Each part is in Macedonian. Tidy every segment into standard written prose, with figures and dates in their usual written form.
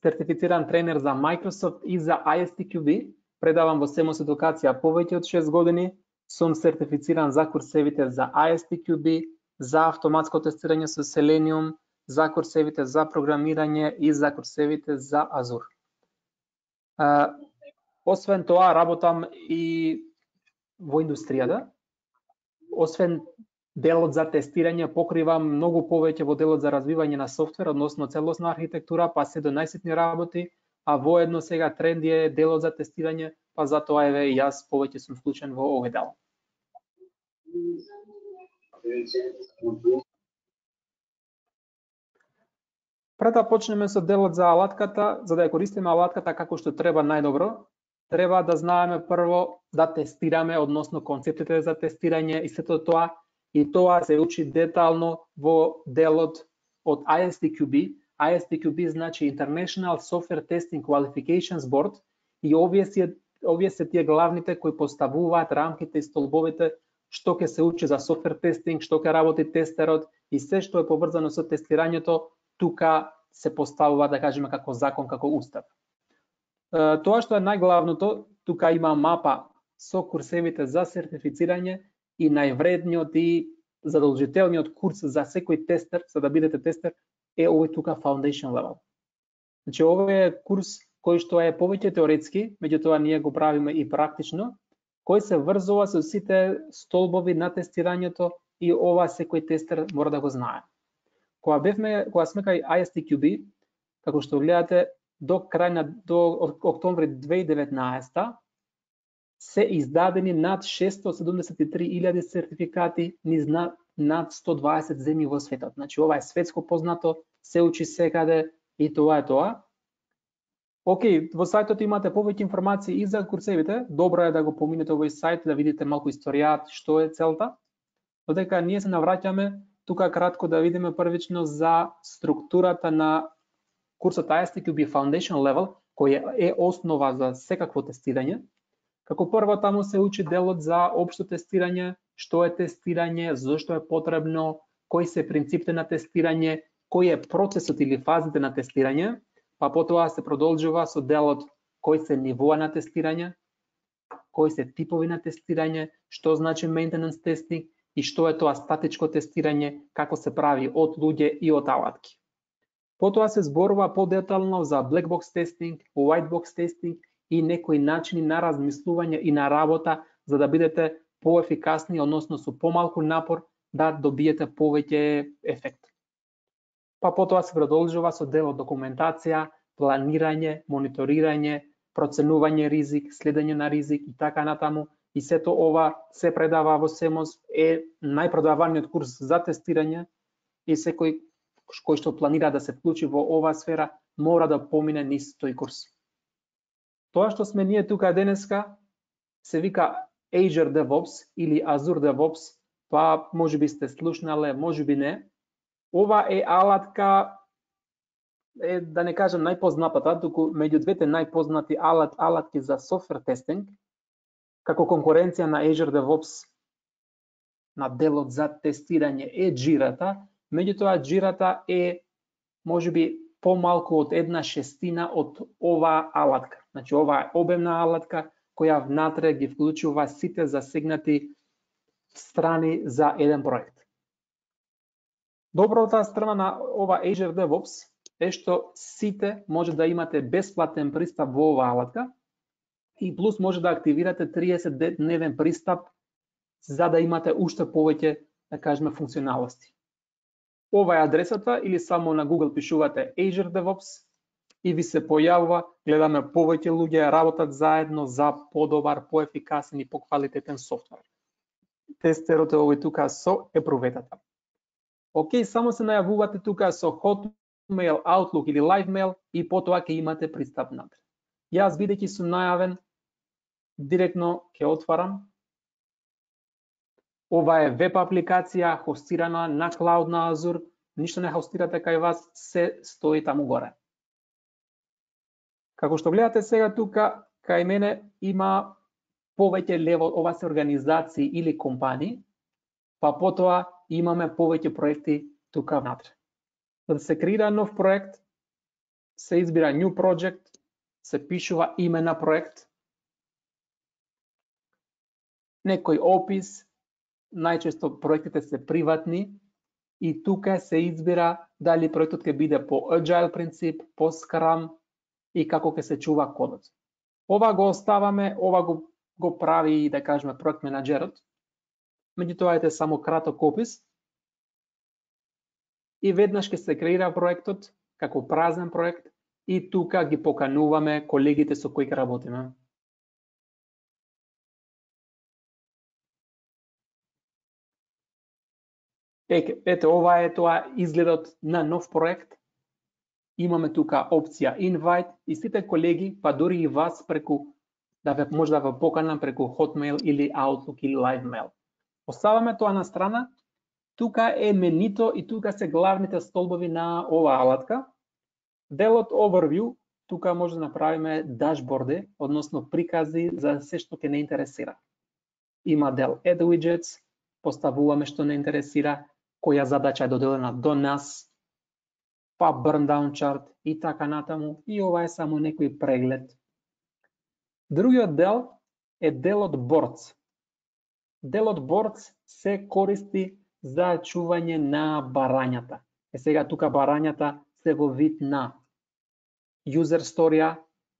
сертифициран тренер за Microsoft и за ISTQB. Предавам во Semos Едукација повеќе од 6 години. Сум сертифициран за курсевите за ISTQB, за автоматско тестирање со Selenium, за курсевите за програмирање и за курсевите за Azure. Освен тоа, работам и во индустријата. Освен делот за тестирање, покривам многу повеќе во делот за развивање на софтвер, односно целосна архитектура, па се до најситни работи, а воедно сега тренд е делот за тестирање, па затоа еве и јас повеќе сум вклучен во овој дел. Пред да почнеме со делот за алатката, за да ја користиме алатката како што треба најдобро, треба да знаеме прво да тестираме, односно концептите за тестирање и сето тоа, и тоа се учи детално во делот од ISTQB. ISTQB значи International Software Testing Qualifications Board, и овие се тие главните кои поставуваат рамките и столбовите што ќе се учи за софтвер тестинг, што ќе работи тестерот и се што е поврзано со тестирањето, тука се поставува, да кажеме, како закон, како устав. Тоа што е најглавното, тука има мапа со курсевите за сертифицирање и највредниот и задолжителниот курс за секој тестер, за да бидете тестер, е овој тука Foundation Level. Значи, овој е курс кој што е повеќе теоретски, меѓутоа ние го правиме и практично, кој се врзува со сите столбови на тестирањето и ова секој тестер мора да го знае. Кога сме кај ISTQB, како што гледате, до октомври 2019 се издадени над 673.000 сертификати низ над 120 земји во светот. Значи, ова е светско познато, се учи секаде и тоа е тоа. Океј, во сајтот имате повеќе информации и за курсевите. Добро е да го поминете овој сајт, да видите малку историјат, што е целта. Додека ние се навраќаме, тука кратко да видиме првично за структурата на курсот ISTQB Foundation Level, кој е основа за секакво тестирање. Како прво таму се учи делот за општо тестирање, што е тестирање, зошто е потребно, кои се принципите на тестирање, кој е процесот или фазите на тестирање, па потоа се продолжува со делот кои се нивоа на тестирање, кои се типови на тестирање, што значи maintenance testing и што е тоа статичко тестирање, како се прави од луѓе и од алатки. Потоа се зборува подетално за black box testing, white box testing и некои начини на размислување и на работа за да бидете поефикасни, односно со помалку напор да добиете повеќе ефект. Па потоа се продолжува со делот документација, планирање, мониторирање, проценување ризик, следење на ризик и така натаму. И сето ова се предава во Semos, е најпродаваниот курс за тестирање и секој кој што планира да се вклучи во оваа сфера мора да помине низ тој курс. Тоа што сме ние тука денеска се вика Azure DevOps или Azure DevOps, па можеби сте слушнале, можеби не. Ова е алатка, да не кажам најпознатата, туку меѓу двете најпознати алатки за софтвер тестинг, како конкуренција на Azure DevOps на делот за тестирање е Jira-та, меѓутоа Jira-та е можеби помалку од 1/6 од оваа алатка. Значи, ова е обемна алатка која внатре ги вклучува сите засегнати страни за еден проект. Добрата страна на ова Azure DevOps е што сите може да имате бесплатен пристап во оваа алатка и плюс може да активирате 30-дневен пристап за да имате уште повеќе, да кажеме, функционалности. Ова е адресата или само на Google пишувате Azure DevOps и ви се појавува, гледаме повеќе луѓе работат заедно за подобар, поефикасен и поквалитетен софтвер. Тестерот е овој тука со епруветата. Океј, само се најавувате тука со Hotmail, Outlook или LiveMail и потоа ќе имате пристап натре. Јас бидејќи сум најавен, директно ќе отварам. Ова е веб апликација хостирана на Cloud на Azure, ништо не хостирате кај вас, се стои таму горе. Како што гледате сега тука, кај мене има повеќе лево, ова се организации или компании, па потоа имаме повеќе проекти тука внатре. За да се креира нов проект, се избира New Project, се пишува име на проект, некој опис, најчесто проектите се приватни, и тука се избира дали проектот ќе биде по Agile принцип, по Scrum и како ќе се чува кодот. Ова го оставаме, ова го прави, да кажеме, проект менаџерот. Меѓутоа ете само краток опис. И веднаш ќе се креира проектот како празен проект и тука ги покануваме колегите со кои ќе работиме. Ете, ова е тоа изгледот на нов проект. Имаме тука опција Invite и сите колеги, па дури и вас преку може да ве поканам преку Hotmail или Outlook или LiveMail. Оставаме тоа на страна. Тука е менито и тука се главните столбови на оваа алатка. Делот Overview, тука може да направиме дашборди, односно прикази за се што ќе не интересира. Има дел Add Widgets, поставуваме што не интересира, која задача е доделена до нас, па Burn Down Chart и така натаму, и ова е само некој преглед. Другиот дел е делот Boards. Делот Boards се користи за чување на барањата. Сега тука барањата се во вид на user сторија,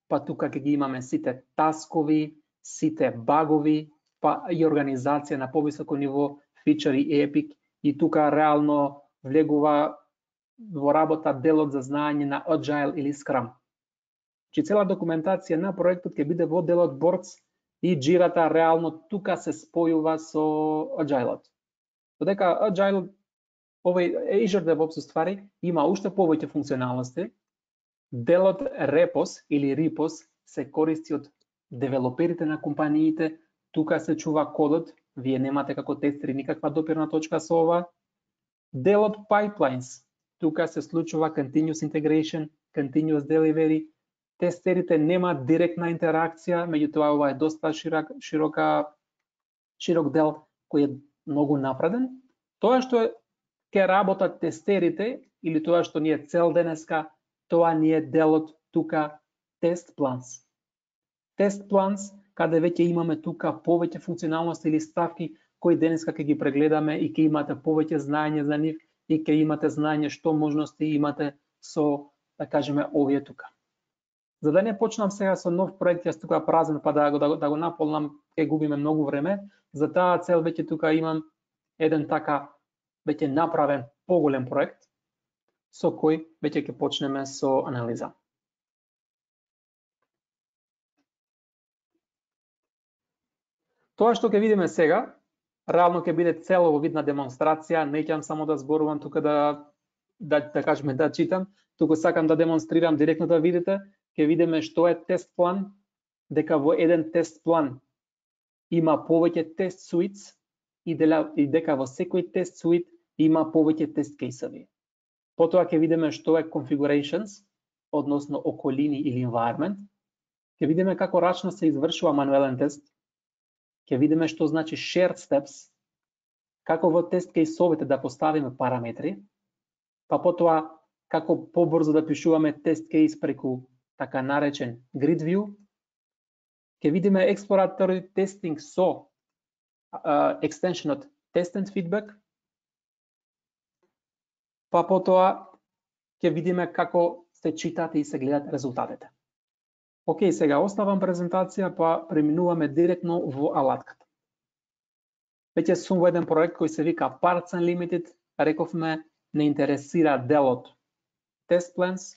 па тука ќе ги имаме сите таскови, сите багови, па и организација на повисоко ниво, фичери и епик, и тука реално влегува во работа делот за знаење на Agile или Scrum. Че цела документација на проектот ќе биде во делот Boards и джирата реално тука се спојува со Agile-от. Додека Agile, овој Azure DevOps ствари, има уште повеќе функционалности. Делот Repos или Repos се користи од девелоперите на компаниите, тука се чува кодот, вие немате како тестери никаква допирна точка со ова. Делот Pipelines, тука се случува Continuous Integration, Continuous Delivery, тестерите немаат директна интеракција, меѓутоа ова е доста широк дел кој е многу напреден. Тоа што ќе работат тестерите или тоа што ни е цел денеска, тоа ни е делот тука Test Plans. Test Plans, каде веќе имаме тука повеќе функционалности или ставки кои денеска ќе ги прегледаме и ќе имате повеќе знаење за нив и ќе имате знаење што можности имате со, да кажеме, овие тука. За да не почнам сега со нов проект, јас тука празен, па да го наполнам, ќе губиме многу време. За таа цел веќе тука имам еден така веќе направен поголем проект со кој веќе ќе почнеме со анализа. Тоа што ќе видиме сега, реално ќе биде целово видна демонстрација, неќам само да зборувам тука да кажеме да читам, туку сакам да демонстрирам директно да видите, ќе видиме што е тест план, дека во еден тест план има повеќе тест суитс и дека во секој тест суит има повеќе тест кейсови. Потоа ќе видиме што е configurations, односно околини или environment. Ќе видиме како рачно се извршува мануелен тест. Ќе видиме што значи shared steps, како во тест кейсовите да поставиме параметри, па потоа како побрзо да пишуваме тест кейс преку така наречен grid view. Ќе видиме exploratory testing со екстеншенот test and feedback, па потоа ќе видиме како се читат и се гледат резултатите. Океј, сега оставам презентација, па преминуваме директно во алатката. Веќе сум во еден проект кој се вика Parts Unlimited, рековме не интересира делот Test Plans,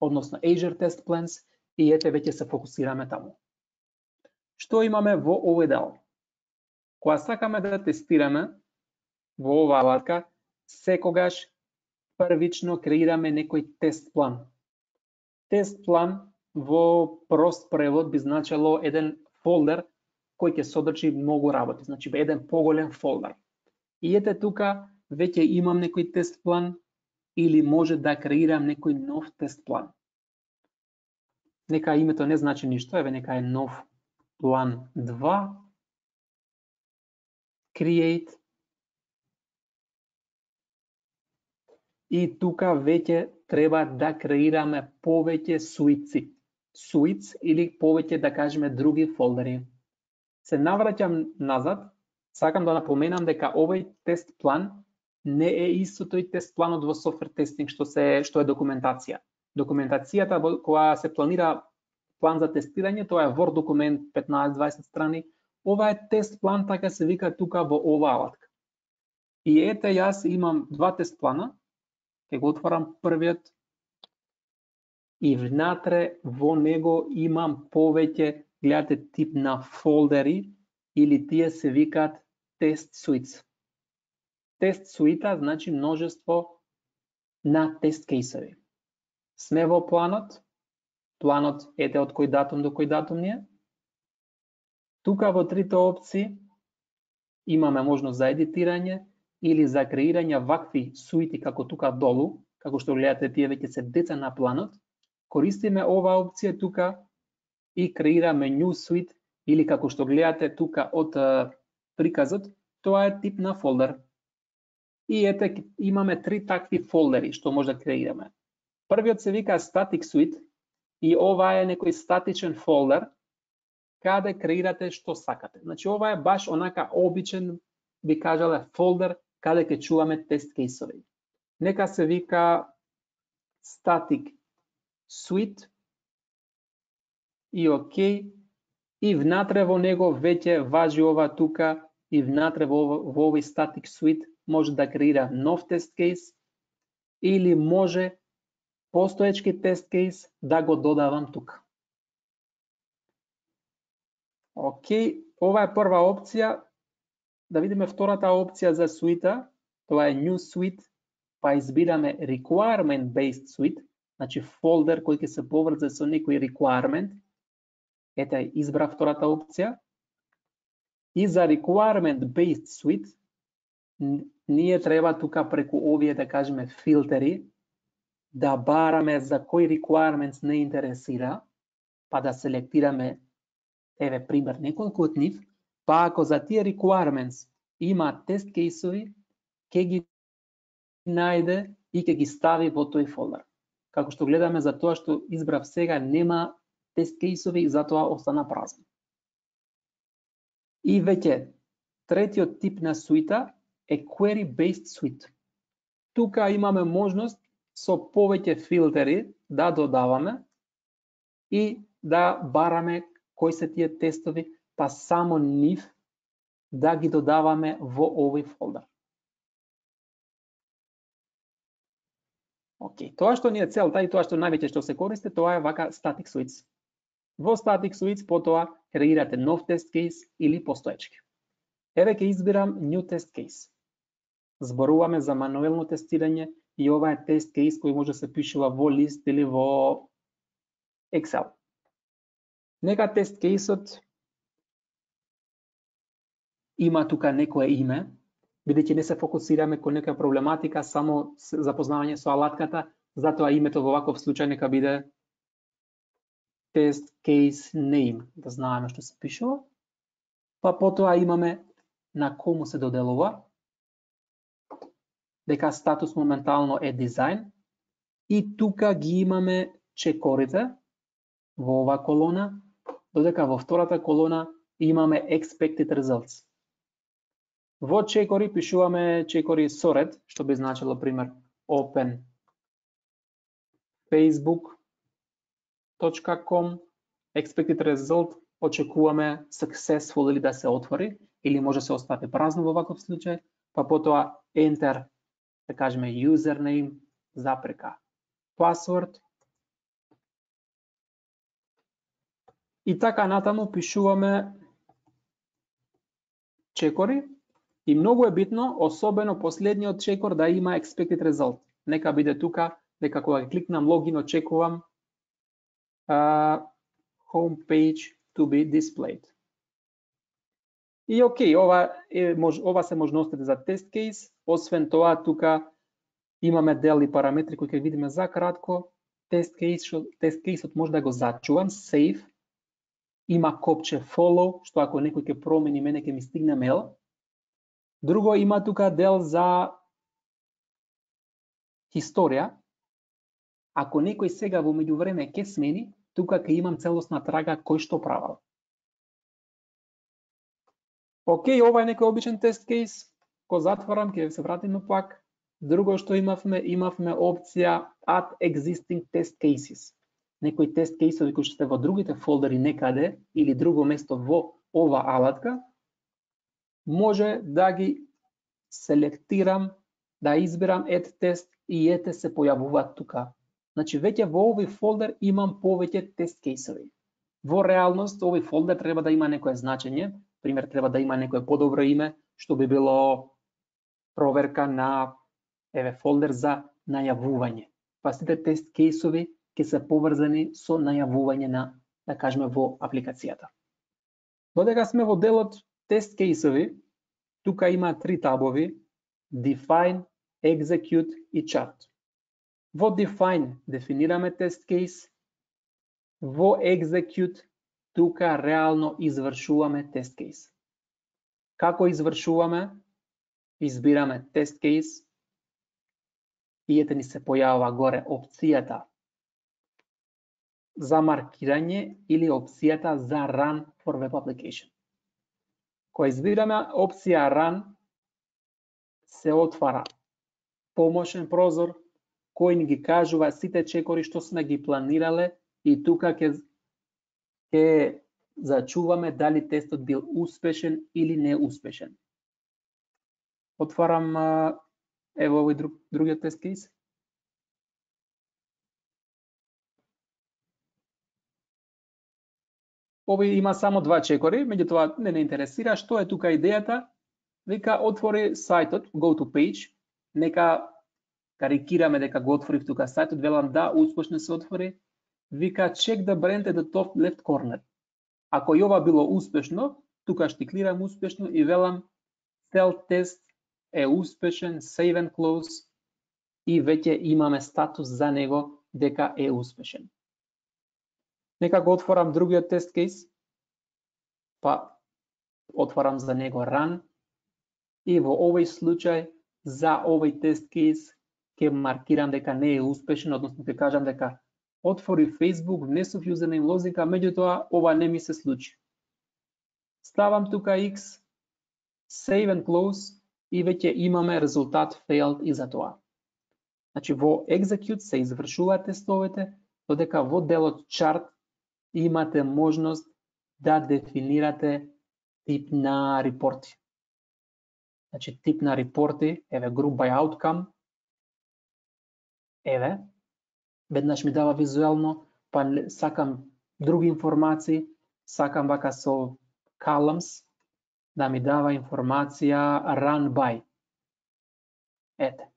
односно Azure Test Plans, и ете веќе се фокусираме таму. Што имаме во овој дел? Кога сакаме да тестираме во оваа алатка, секогаш првично креираме некој тест план. Тест план во прост превод би значело еден фолдер кој ќе содржи многу работи, значи еден поголем фолдер. И ете тука веќе имам некој тест план или може да креирам некој нов тест план. Нека името не значи ништо, еве нека е нов план 2, create. и тука веќе треба да креираме повеќе суици. Суиц или повеќе да кажеме други фолдери. Се навраќам назад, сакам да напоменам дека овој тест план не е исто тој тест планот во софтвер тестинг што е документација. Документацијата која се планира план за тестирање, тоа е Word документ 15-20 страни. Ова е тест план, така се вика тука во оваа алатка. И ете, јас имам два тест плана. Ќе го отварам првиот и внатре во него имам повеќе, гледате, тип на фолдери или тие се викаат тест суиц. Тест суита значи множество на тест кейсови. Сме во планот. Планот ете од кој датум до кој датум ни е. Тука во трите опции имаме можност за едитирање или за креирање вакви суити како тука долу, како што гледате, тие веќе се деца на планот. Користиме оваа опција тука и креираме new suite или како што гледате тука од приказот, тоа е тип на фолдер. И ете имаме три такви фолдери што може да креираме. Првиот се вика static suite и ова е некој статичен фолдер каде креирате што сакате. Значи ова е баш онака обичен, би кажале, фолдер каде ќе чуваме тест кейсови. Нека се вика static suite и окей. И внатре во него веќе важи ова тука и внатре во овој static suite може да креира нов тест кейс или може постоечки тест кейс да го додавам тука. Окей, ова е прва опција. Да видиме втората опција за суита. Тоа е new suite, па избираме requirement based suite, значи фолдер кој ќе се поврзе со некој requirement. Ете, избрав втората опција. И за requirement based suite ние треба тука преку овие, да кажеме, филтери да бараме за кој requirements не интересира, па да селектираме, еве пример, неколку од нив, па ако за тие requirements има тест кейсови, ќе ги најде и ќе ги стави во тој фолдер. Како што гледаме, за тоа што избрав сега нема тест кейсови и затоа остана празно. И веќе третиот тип на суита е query based suite. Тука имаме можност со повеќе филтери да додаваме и да бараме кои се тие тестови, па само нив да ги додаваме во овој фолдер. Окей, тоа што ни е целта и тоа што највеќе што се користи, тоа е вака static suites. Во static suites потоа креирате нов тест кейс или постоечки. Еве ќе избирам new test case. Зборуваме за мануелно тестирање и ова е тест кейс кој може да се пишува во лист или во Excel. Нека тест кейсот има тука некое име, бидејќи не се фокусираме кон нека проблематика, само запознавање со алатката, затоа името во ваков случај нека биде test case name, да знаеме што се пишува. Па потоа имаме на кому се доделува, дека статус моментално е дизајн и тука ги имаме чекорите во оваа колона, додека во втората колона имаме expected results. Во чекори пишуваме чекори со ред, што би значило пример open facebook.com, expected result очекуваме successful или да се отвори, или може се остави празно во ваков случај, па потоа enter, да кажеме username, запрека, password. И така натаму пишуваме чекори и многу е битно, особено последниот чекор да има expected result. Нека биде тука, дека кога ќе кликнам login очекувам homepage to be displayed. И окей, ова се можностите за тест кейс. Освен тоа, тука имаме дел и параметри кои ќе видиме за кратко. Тест кейсот може да го зачувам, save. Има копче follow, што ако некој ќе промени, мене ќе ми стигне мейл. Друго, има тука дел за историја, ако некој сега во меѓувреме ќе смени, тука ќе имам целосна трага кој што правил. Океј, ова е некој обичен тест кейс, го затворам, ќе се вратиме пак. Друго што имавме опција Add Existing Test Cases. Некои тест кейсови кои што се во другите фолдери некаде или друго место во ова алатка, може да ги селектирам, да избирам Add Test и ете се појавуваат тука. Значи, веќе во овој фолдер имам повеќе тест кейсови. Во реалност, овој фолдер треба да има некое значење, пример, треба да има некое подобро име, што би било проверка на фолдер за најавување. Па сите тест кейсови ќе се поврзани со најавување на, да кажеме, во апликацијата. Додека сме во делот тест кейсови, тука има 3 табови: Define, Execute и Chart. Во Define дефинираме тест кейс, во Execute тука реално извршуваме тест кейс. Како извршуваме? Избираме тест кейс и ете ни се појавува горе опцијата за маркирање или опцијата за Run for Web Application. Кога избираме опција Run, се отвара помошен прозор кој ни ги кажува сите чекори што сме ги планирале и тука ќе зачуваме дали тестот бил успешен или неуспешен. Отварам ево овој другиот тест кейс. Овој има само 2 чекори, меѓутоа не интересира. Што е тука идејата? Вика отвори сајтот, go to page, нека карикираме дека го отворив тука сајтот, велам да, успешно се отвори. Вика check the brand at the top left corner. Ако и ова било успешно, тука штиклирам успешно и велам cell test е успешен, save and close и веќе имаме статус за него дека е успешен. Нека го отворам другиот тест кейс, па отворам за него Run и во овој случај за овој тест кейс ќе маркирам дека не е успешен, односно ќе кажам дека отвори Facebook, внесов юзернейм лозинка, меѓутоа ова не ми се случи. Ставам тука X, save and close и веќе имаме резултат failed и за тоа. Значи во Execute се извршуваат тестовете, додека во делот Chart имате можност да дефинирате тип на репорти. Значи тип на репорти, еве Group by Outcome, еве, веднаш ми дава визуелно, па сакам други информации, сакам вака со columns, да ми дава информација run by. Ете.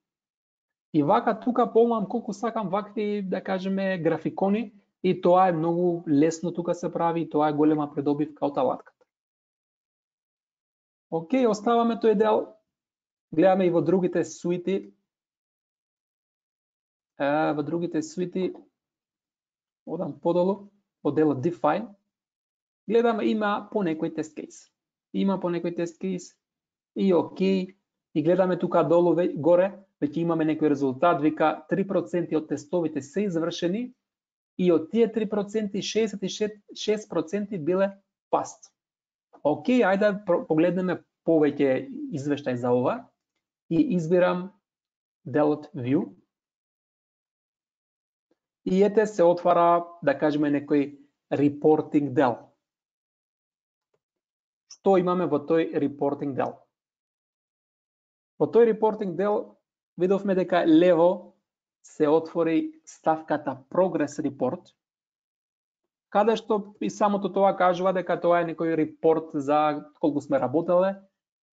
И вака тука помам колку сакам вакви, да кажеме, графикони, и тоа е многу лесно тука се прави, и тоа е голема придобивка од алатката. Океј, оставаме тој дел, гледаме и во другите суити. Во другите суити, одам подолу, во делот Define, гледаме има по некој тест кейс. Има по некој тест кейс и окей, и гледаме тука долу горе, веќе имаме некој резултат, вика 3% од тестовите се извршени и од тие 3% 66% биле passed. Океј, ајде да погледнеме повеќе извештај за ова и избирам делот View. И ете се отвара, да кажеме, некој reporting дел. Што имаме во тој reporting дел? Во тој reporting дел видовме дека лево се отвори ставката Progress Report, каде што и самото тоа кажува дека тоа е некој репорт за колку сме работеле.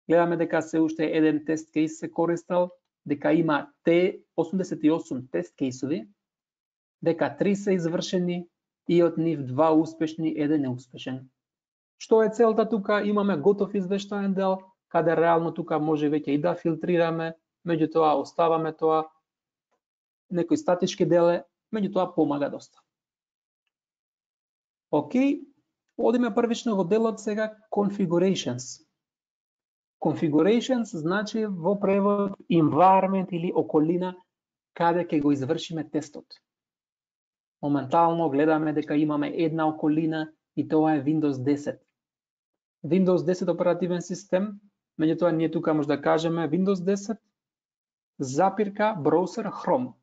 Гледаме дека се уште еден тест кейс се користел, дека има 88 тест кейсови, дека 3 се извршени и од нив 2 успешни, 1 неуспешен. Што е целта тука? Имаме готов извештаен дел, каде реално тука може веќе и да филтрираме, меѓутоа оставаме тоа, некој статички дел, меѓутоа помага доста. Океј, одиме првично во делот сега Configurations. Configurations значи во превод environment или околина каде ќе го извршиме тестот. Моментално гледаме дека имаме една околина и тоа е Windows 10. Windows 10 оперативен систем, меѓутоа ние тука може да кажеме Windows 10 запирка браузер Chrome.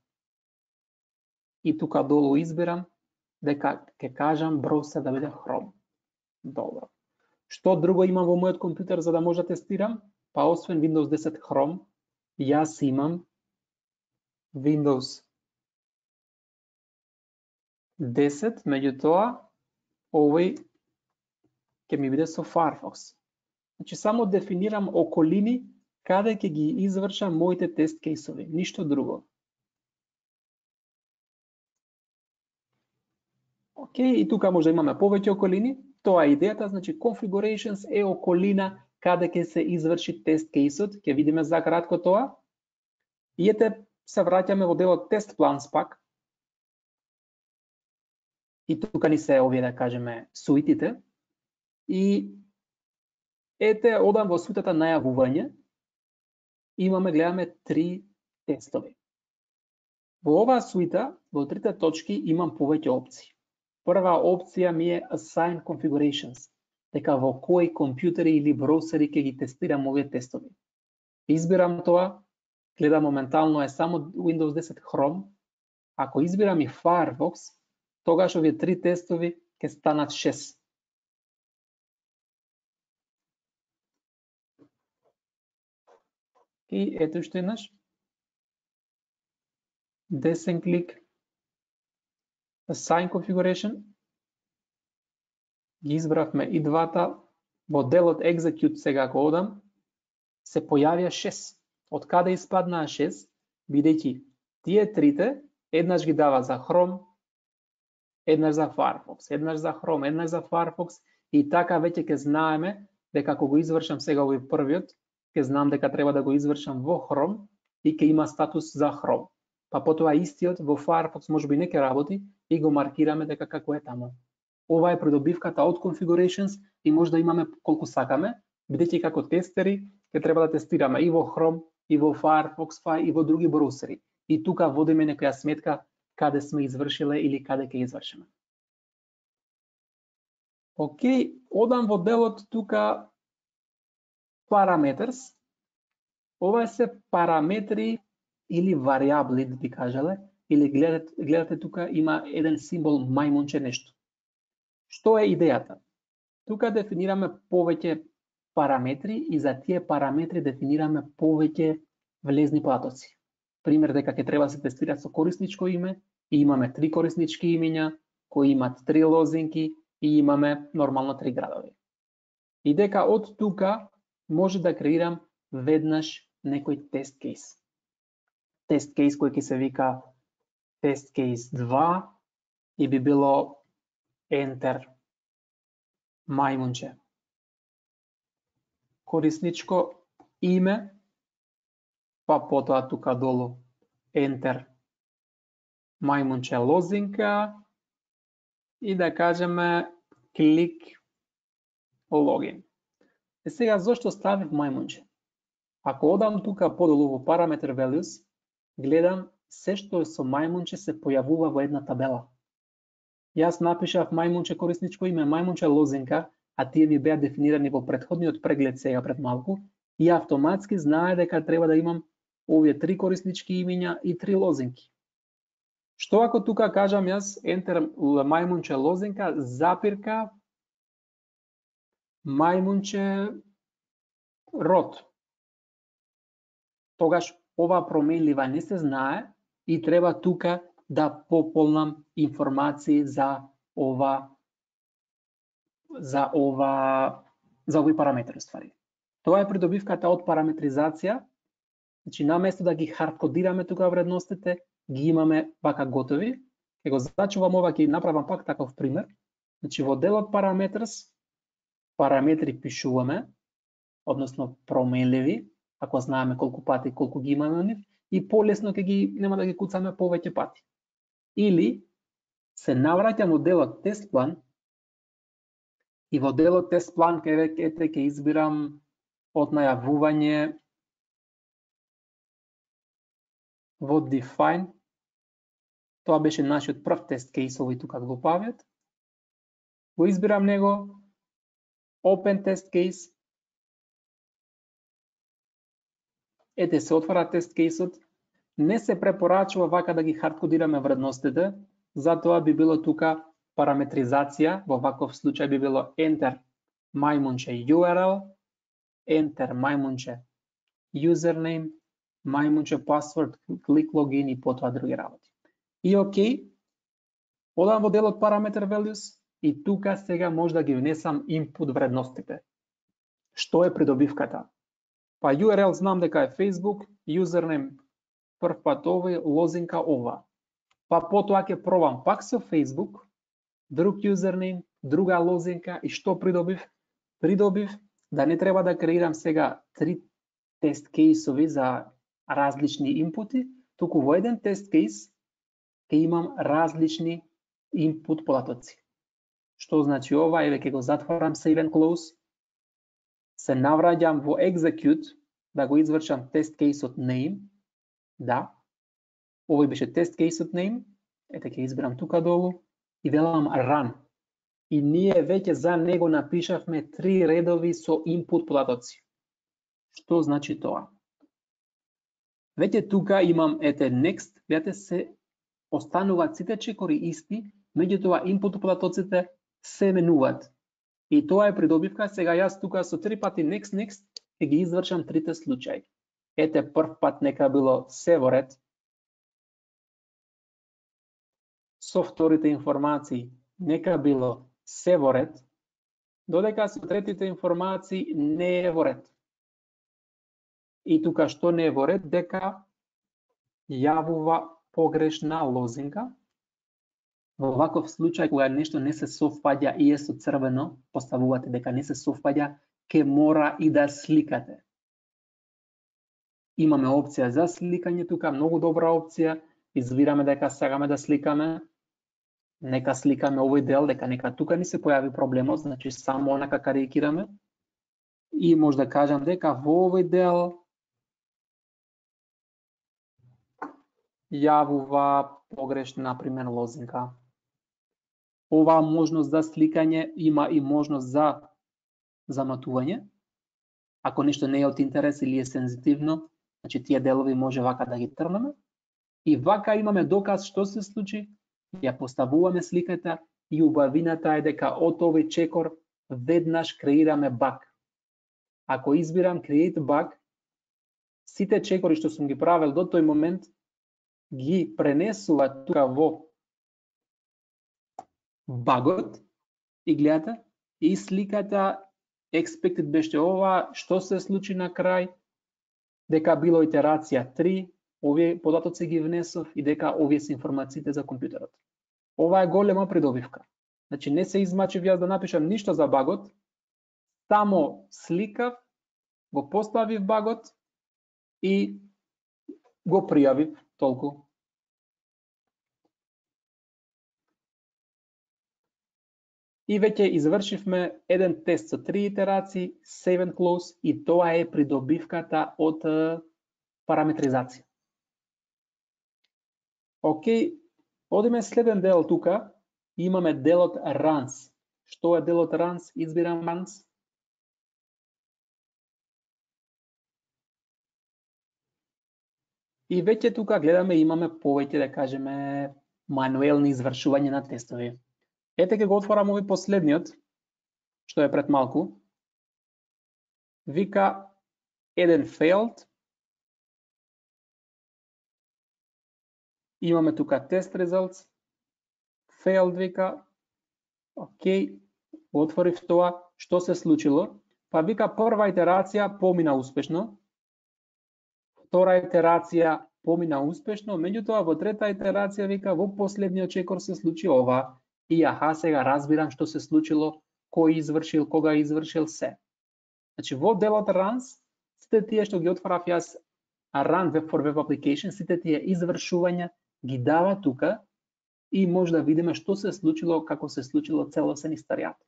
И тука долу избирам дека ќе кажам браузер да биде Chrome. Добро. Што друго имам во мојот компјутер за да може да тестирам? Па освен Windows 10 Chrome, јас имам Windows 10, меѓутоа овој ќе ми биде со Firefox. Значи само дефинирам околини каде ќе ги извршам моите тест кейсови, ништо друго. Океј, и тука може да имаме повеќе околини. Тоа е идејата, значи configurations е околина каде ќе се изврши тест кейсот, ќе видиме за кратко тоа. И ете се враќаме во делот test plans пак. И тука ни се овие да кажеме суитите. И ете одам во суитата најавување. Имаме, гледаме 3 тестови. Во оваа суита, во 3 точки имам повеќе опции. Прва опција ми е Assign Configurations, дека во кои компјутери или браузери ќе ги тестирам овие тестови. Избирам тоа, гледам моментално е само Windows 10 Chrome. Ако избирам и Firefox, тогаш овие 3 тестови ќе станат 6. И ето што еднаш. Десен клик. Assign Configuration. Ги избравме и двата. Во делот Execute сега ако одам, се појавија 6. Од каде испаднаа 6? Бидејќи тие трите еднаш ги дава за Chrome, еднаш за Firefox, еднаш за Chrome, еднаш за Firefox и така веќе ќе знаеме дека ако го извршам сега овој првиот, ќе знам дека треба да го извршам во Chrome и ќе има статус за Chrome. Па потоа истиот во Firefox можеби не ќе работи и го маркираме дека како е таму. Ова е придобивката од Configurations и може да имаме колку сакаме, бидејќи како тестери ќе треба да тестираме и во Chrome, и во Firefox, па и во други браузери. И тука водиме некоја сметка каде сме извршиле или каде ќе извршиме. Океј, одам во делот тука Parameters. Ова се параметри или варијабли, да би кажале, или гледате тука има еден символ мајмунче нешто. Што е идејата? Тука дефинираме повеќе параметри и за тие параметри дефинираме повеќе влезни потоци. Пример дека ќе треба да се тестира со корисничко име и имаме 3 кориснички имиња кои имат 3 лозинки и имаме нормално 3 градови. И дека од тука може да креирам веднаш некој тест кейс. Тест кейс кој ќе се вика тест кейс 2 и би било Enter мајмунче. Корисничко име, па потоа тука долу Enter мајмунче лозинка и да кажеме клик логин. Е сега зошто ставив мајмунче? Ако одам тука подолу во Parameter Values, гледам се што е со мајмунче се појавува во една табела. Јас напишав мајмунче корисничко име, мајмунче лозинка, а тие ми беа дефинирани во претходниот преглед сега пред малку и автоматски знае дека треба да имам овие 3 кориснички имиња и 3 лозинки. Што ако тука кажам јас Enter мајмунче лозинка, запирка, мајмунче род. Тогаш ова променлива не се знае и треба тука да пополнам информации за овој параметр ствари. Тоа е придобивката од параметризација. Значи наместо да ги хардкодираме тука вредностите, ги имаме вака готови. Ќе го зачувам ова, ќе направам пак таков пример. Значи во делот Parameters, параметри пишуваме, односно променливи, ако знаеме колку пати колку ги имаме нив, и полесно ќе ги нема да ги куцаме повеќе пати. Или се навраќам во делот Test Plan и во делот Test Plan ќе избирам од најавување во define, тоа беше нашиот прв тест кейс, овој тука глупавиот. Го избирам него, open тест кейс. Ете се отвара тест кейсот. Не се препорачува вака да ги хардкодираме вредностите, затоа би било тука параметризација, во ваков случај би било enter мајмунче URL, enter мајмунче username, мајмунче password, click login и потоа други работи. И окей, одам во делот parameter values и тука сега може да ги внесам input вредностите. Што е придобивката? Па URL знам дека е Facebook, username прв пат овој, лозинка ова. Па потоа ќе пробам пак со Facebook, друг username, друга лозинка и што придобив? Придобив да не треба да креирам сега 3 тест кейсови за различни инпути, туку во еден тест кейс ќе имам различни input податоци. Што значи ова? Еве ќе го затворам save and close, се навраќам во execute да го извршам тест кейсот name. Да, овој беше тест кейсот name, ете ќе изберам тука долу и велам run. И ние веќе за него напишавме 3 редови со input податоци. Што значи тоа? Веќе тука имам ете next, видите се остануваат сите чекори исти, меѓутоа input податоците се менуваат. И тоа е придобивка. Сега јас тука со 3 пати next ќе ги извршам трите случаи. Ете прв пат нека било се во ред. Со вторите информации нека било се во ред, додека со третите информации не е во ред. И тука што не е во ред? Дека јавува погрешна лозинка. Во ваков случај, кога нешто не се совпаѓа и е со црвено, поставувате дека не се совпаѓа, ке мора и да сликате. Имаме опција за сликање тука, многу добра опција. Избираме дека сакаме да сликаме. Нека сликаме овој дел, дека нека тука ни се појави проблемот, значи само онака карикираме. И може да кажам дека во овој дел јавува погрешна, например, лозинка. Оваа можност за сликање има и можност за заматување. Ако нешто не е од интерес или е сензитивно, значи тие делови може вака да ги трнеме. И вака имаме доказ што се случи, ја поставуваме сликата и убавината е дека од овој чекор веднаш креираме баг. Ако избирам create bug, сите чекори што сум ги правил до тој момент ги пренесува тука во багот и гледате, и сликата expected беше ова, што се случи на крај, дека било итерација 3, овие податоци ги внесов и дека овие се информациите за компјутерот. Ова е голема придобивка. Значи не се измачив јас да напишам ништо за багот, само сликав, го поставив багот и го пријавив толку. И веќе извршивме еден тест со 3 итерации, save and close, и тоа е придобивката од параметризација. Океј, одиме следен дел тука, имаме делот runs. Што е делот runs? Избирам runs. И веќе тука гледаме, имаме повеќе, да кажеме, мануелни извршување на тестови. Ете ќе го отворам овој последниот, што е пред малку. Вика еден failed. Имаме тука тест results. Failed вика. Океј, отворив тоа. Што се случило? Па вика прва итерација помина успешно. Втора итерација помина успешно, меѓутоа во трета итерација вика во последниот чекор се случи ова. И аха, сега разбирам што се случило, кој извршил, кога извршил се. Значи во делот runs, сите тие што ги отворав јас run web for web application, сите тие извршувања ги дава тука и може да видиме што се случило, како се случило целосен историјат.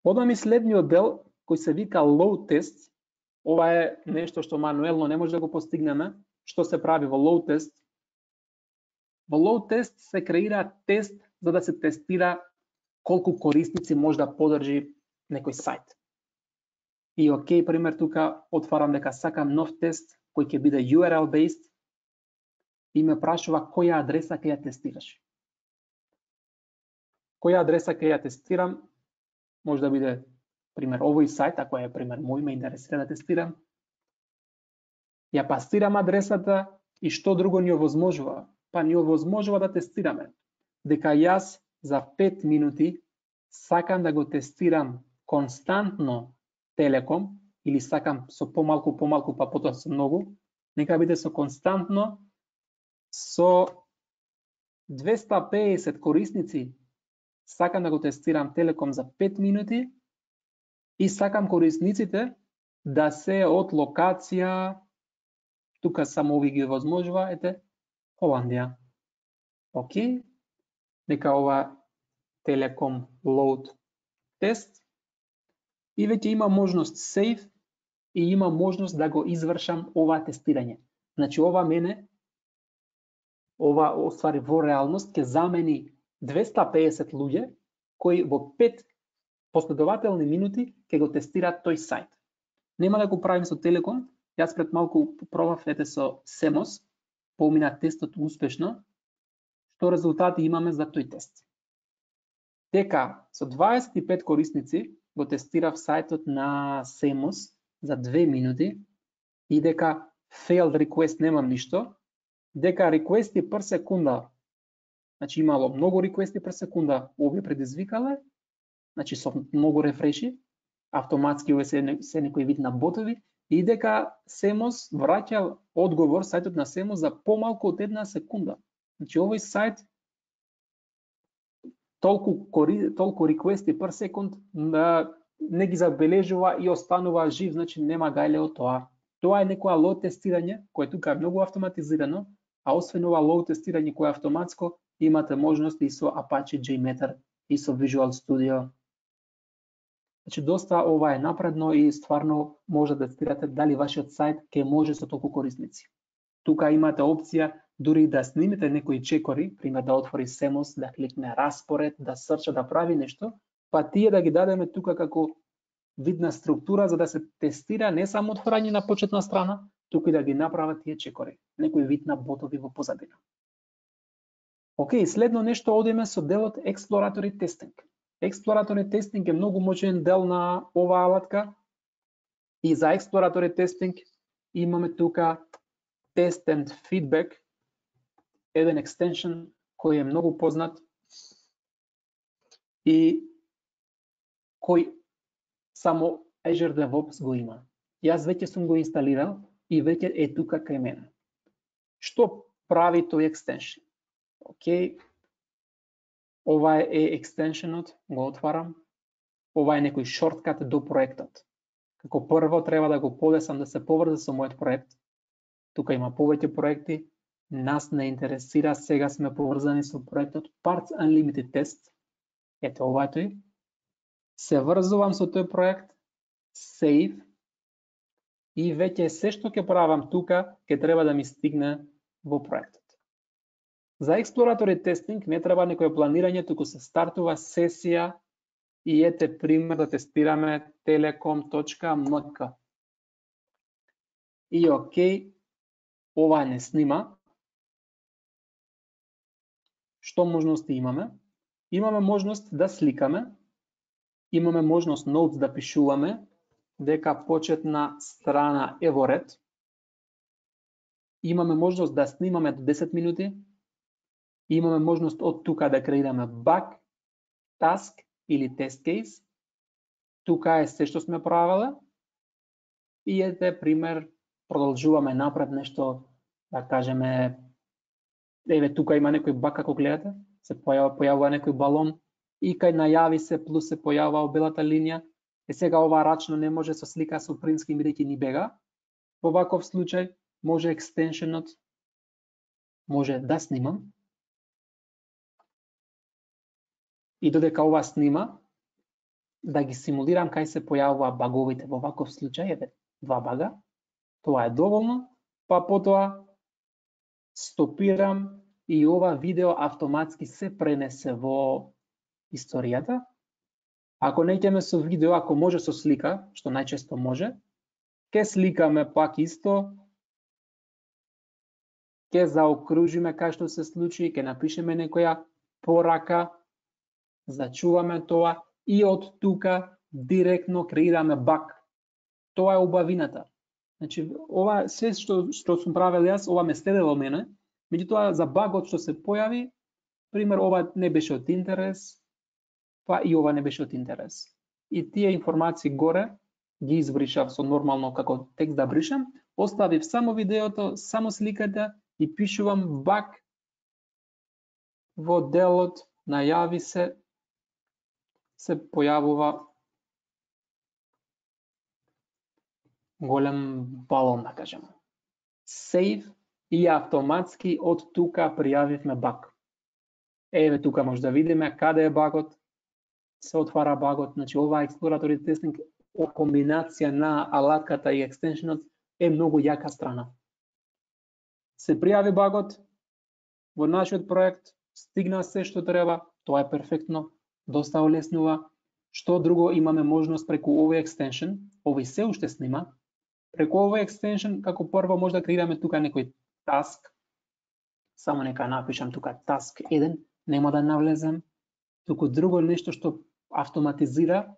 Одам и следниот дел кој се вика load test. Ова е нешто што мануелно не може да го постигнеме, што се прави во load test? Во load test се креира тест за да се тестира колку корисници може да подржи некој сајт. И окей, пример тука отварам дека сакам нов тест кој ќе биде URL based и ме прашува која адреса ќе ја тестираш. Која адреса ќе ја тестирам? Може да биде пример овој сајт, ако е пример мој ме интересира да тестирам. Ја пастирам адресата и што друго ни овозможува? Па ни овозможува да тестираме дека јас за 5 минути сакам да го тестирам константно Телеком или сакам со помалку, па потоа со многу, нека биде со константно со 250 корисници сакам да го тестирам Телеком за 5 минути и сакам корисниците да се од локација, тука само ови ги возможува, ете, Холандија. Окей, нека ова Телеком load тест и веќе има можност save и има можност да го извршам ова тестирање. Значи ова оствари во реалност ќе замени 250 луѓе кои во 5 последователни минути ќе го тестираат тој сајт. Нема да го правим со Телеком, јас пред малку пробав со Semos, помина тестот успешно, што резултати имаме за тој тест. Дека со 25 корисници го тестирав сајтот на Semos за 2 минути и дека failed request немам ништо, дека requesti per секунда, значи имало многу requesti per секунда, овие предизвикале, значи со многу рефреши, автоматски овие се некој вид на ботови, и дека Semos враќа одговор, сајтот на Semos за помалку од 1 секунда. Значи овој сајт толку requesti per секунд не ги забележува и останува жив, значи нема гајле од тоа. Тоа е некоја load тестирање, кое тука е многу автоматизирано, а освен ова load тестирање кое е автоматско, имате можност и со Apache JMeter и со Visual Studio. Значи доста ова е напредно и стварно може да тестирате дали вашиот сајт ќе може со толку корисници. Тука имате опција дури да снимите некои чекори, пример да отвори Semos, да кликне распоред, да срча, да прави нешто, па тие да ги дадеме тука како видна структура за да се тестира не само отворање на почетна страна, туку и да ги направат тие чекори, некој вид на ботови во позадина. Океј, следно нешто одиме со делот Exploratory Testing. Exploratory Testing е многу моćен дел на оваа алатка и за Exploratory Testing имаме тука Test and Feedback, еден екстеншн кој е многу познат и кој само Azure DevOps го има. Јас веќе сум го инсталирал и веќе е тука кај мене. Што прави тој екстеншн? Океј, ова е екстеншнот, го отварам. Ова е некој шорткат до проектот. Како прво треба да го подесам да се поврзе со мојот проект. Тука има повеќе проекти. Нас не интересира, сега сме поврзани со проектот Parts Unlimited Test. Ето ова е тој. Се врзувам со тој проект, save, и веќе се што ќе правам тука, ќе треба да ми стигне во проектот. За Exploratory Testing не треба некој планирање, туку се стартува сесија и ете пример да тестираме telecom.mk. И окей, ова не снима. Што можности имаме? Имаме можност да сликаме, имаме можност notes да пишуваме, дека почетна страна е во ред. Имаме можност да снимаме до 10 минути. Имаме можност од тука да креираме баг, task или test case. Тука е се што сме правеле. И ете пример, продолжуваме напред нешто, да кажеме, еве тука има некој баг како гледате, се појавува некој балон и кај најави се плюс се појавува белата линија. Сега ова рачно не може со слика со принтски бидејќи ни бега. Во ваков случај може екстеншенот може да снимам. И додека ова снима, да ги симулирам кај се појавува баговите. Во ваков случај, еве, 2 бага. Тоа е доволно, па потоа стопирам и ова видео автоматски се пренесе во историјата. Ако неќеме со видео, ако може со слика, што најчесто може, ќе сликаме пак исто, ќе заокружиме кај што се случи, ќе напишеме некоја порака, зачуваме тоа и од тука директно креираме баг. Тоа е убавината. Значи, ова се што сум правил јас, ова ме следело мене, меѓутоа за багот што се појави, пример, ова не беше од интерес, па и ова не беше од интерес. И тие информации горе ги избришав со нормално како текст да бришам, оставив само видеото, само сликата и пишувам баг во делот, најави се појавува голем балон, да кажеме. Save и автоматски од тука пријавивме баг. Еве тука може да видиме каде е багот, се отвара багот, значи ова Exploratory Testing комбинација на алатката и екстеншенот е многу јака страна. Се пријави багот во нашиот проект, стигна се што треба, тоа е перфектно, доста олеснува. Што друго имаме можност преку овој екстеншен, овој се уште снима. Преку овој екстеншен, како прво може да креираме тука некој task. Само нека напишам тука task 1, нема да навлезем. Туку друго нешто што автоматизира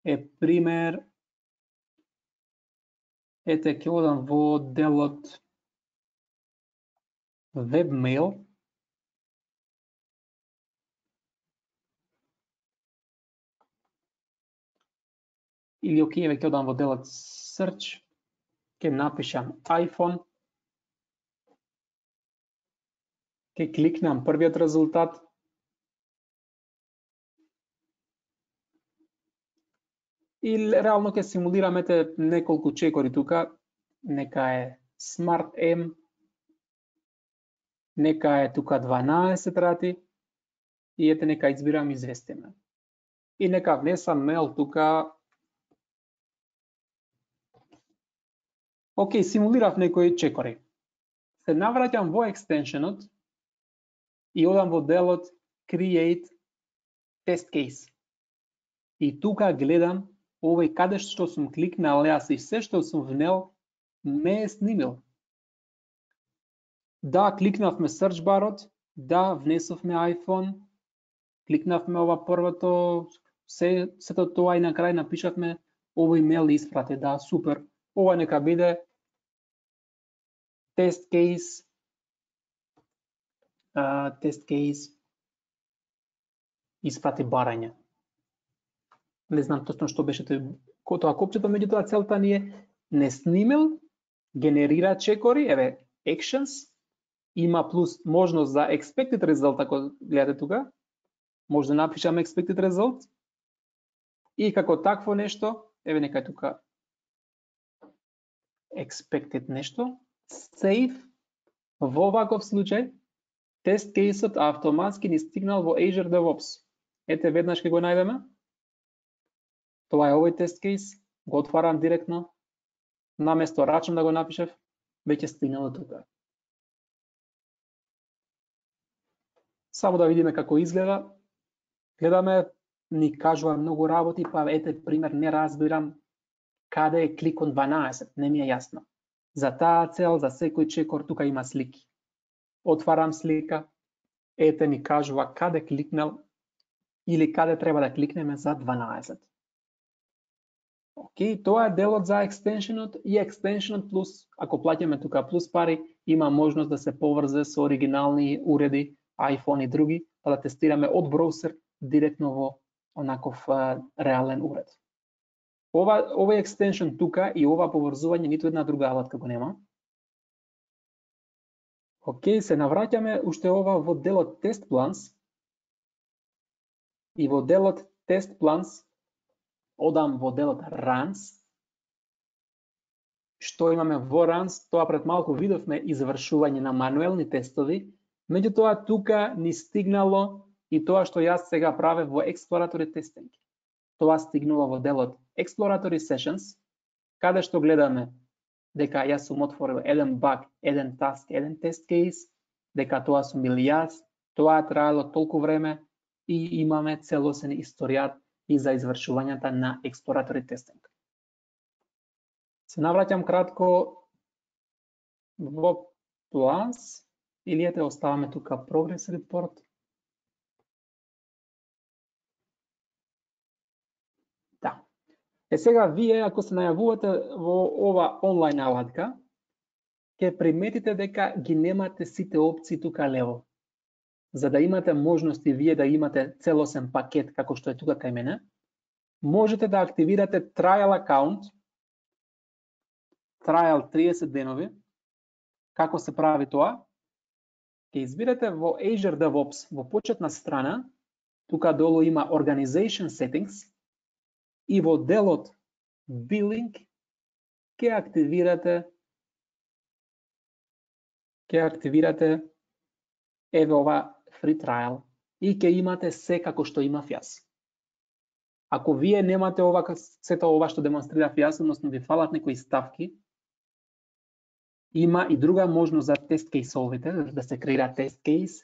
е пример, ете ќе одам во делот webmail. Или окей, ќе одам во делот search, ќе напишам iPhone, ќе кликнам првиот резултат, и реално ќе симулираме неколку чекори тука, нека е Smart M, нека е тука 12 рати, и ете нека избирам известиме. И нека внесам мейл тука. Океј, симулирав некои чекори. Се навраќам во екстеншенот и одам во делот Create Test Case. И тука гледам овој каде што сум кликнал јас и се што сум внел ме е снимил. Да, кликнавме search барот, да, внесовме iPhone, кликнавме ова првото, сето тоа и на крај напишавме овој мейл испрати, да, супер. Ова нека биде test case испрати барање. Не знам точно што беше тоа копчето, меѓутоа целта ни е не снимил, генерира чекори, еве actions, има плюс можност за expected result, ако гледате тука, може да напишам expected result, и како такво нешто, еве нека тука expected нешто, save, во ваков случај, тест кейсот автоматски ни стигнал во Azure DevOps. Ете, веднаш ќе го најдеме. Тоа е овој тест кейс, го отварам директно, наместо рачам да го напишев, веќе стигнало тука. Само да видиме како изгледа. Гледаме, ни кажува многу работи, па ете, пример, не разбирам каде е кликон 12, не ми е јасно. За таа цел, за секој чекор, тука има слики. Отварам слика, ете ни кажува каде кликнал или каде треба да кликнеме за 12. Океј, тоа е делот за екстеншенот и екстеншенот плюс, ако плаќаме тука плюс пари, има можност да се поврзе со оригинални уреди, iPhone и други, па да тестираме од браузер директно во онаков реален уред. Овој екстеншен тука и ова поврзување ниту една друга алатка го нема. Океј, се навраќаме уште ова во делот Test Plans. И во делот Test Plans одам во делот Runs. Што имаме во Runs, тоа пред малку видовме извршување на мануелни тестови, меѓутоа тука ни стигнало и тоа што јас сега правев во Exploratory Testing. Тоа стигнува во делот Exploratory Sessions, каде што гледаме дека јас сум отворил еден баг, еден task, еден тест кейс, дека тоа сум бил јас, тоа е траело толку време и имаме целосен историјат и за извршувањата на експлоратори тестинг. Се навраќам кратко во Plus, или ете оставаме тука Progress Report. Да. Сега вие, ако се најавувате во ова онлайн алатка, ќе приметите дека ги немате сите опции тука лево. За да имате можности вие да имате целосен пакет како што е тука кај мене, можете да активирате trial account, trial 30 денови. Како се прави тоа? Ќе избирате во Azure DevOps во почетна страна, тука долу има Organization Settings и во делот Billing ќе активирате еве ова free trial и ќе имате се како што имав јас. Ако вие немате ова, сето ова што демонстрирав јас, односно ви фалат некои ставки, има и друга можност за тест кейсовите, да се креира тест кейс,